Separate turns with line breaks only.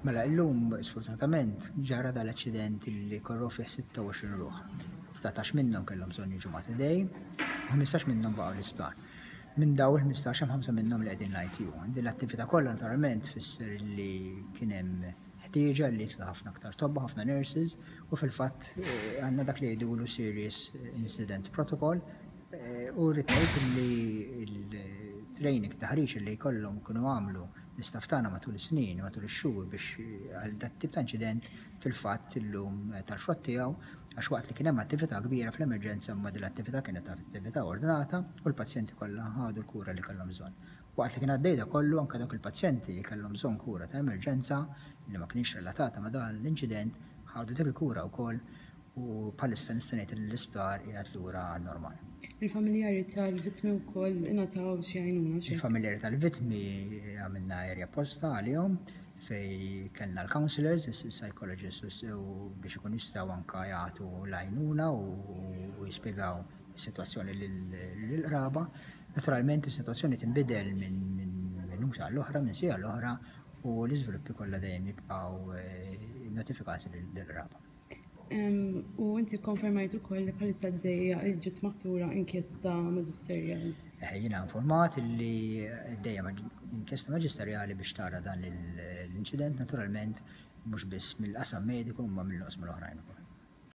Mela illum sfortunatament ġara dal-aċċident li korrew fih 26 ruħ. 19 minnhom kellhom bżonn jiġu Mater Dei, u 15 minnhom baqgħu l-isptar. Minn daw il-15 hemm 5 minnhom li qegħdin l-ITU. Din l-attività kollha naturalment tfisser li kien hemm ħtieġa li jitlu ħafna aktar tobba, ħafna nurses, u fil-fatt eh, għandna dak li jgħidulu Serious Incident Protocol eh, u rrid ngħid li l-training taħriġ li jkollhom kienu għamlu l-istaff tagħna matul is-snin, matul ix-xhur biex għal dat tip ta' inċident fil-fatt illum tal-frott tiegħu għax waqt li kien hemm attività kbira fl-emerġenza imma din l-attività kienet attività ordnata u l-pazjenti kollha ħadu l-kura li kellhom bżonn. Waqt li kien għaddej da kollu anke dawk il-pazjenti li kellhom bżonn kura ta' emerġenza li ma kienx relatata ma' dan l-inċident ħadu dik il-kura wkoll u bħalissa nista' ngħid li l-isptar qiegħed lura għan-normal.
Il-familjari tal-vittmi wkoll ingħataw xi għajnuna xi?
Il-familjari tal-vittmi għamilna area apposta għalihom fej kellna l-counselors, il-psychologists u biex ikun jistgħu anka jagħtu l-għajnuna u jispjegaw is-sitwazzjoni lill-qraba. Naturalment is-sitwazzjoni tinbidel minn minuta għall-oħra, minn siegħa l-oħra u l-iżviluppi kollha dejjem jibqgħu eh, notifikati lill-qraba.
U inti konfermajt ukoll li bħalissa għaddejja ġiet maħtura inkjesta maġisterjali.
Eh, jiena informat li għaddejja inkjesta maġisterjali biex tara dan l-inċident naturalment mhux biss mill-qasam mediku imma mill-oqsma l-oħrajn ukoll.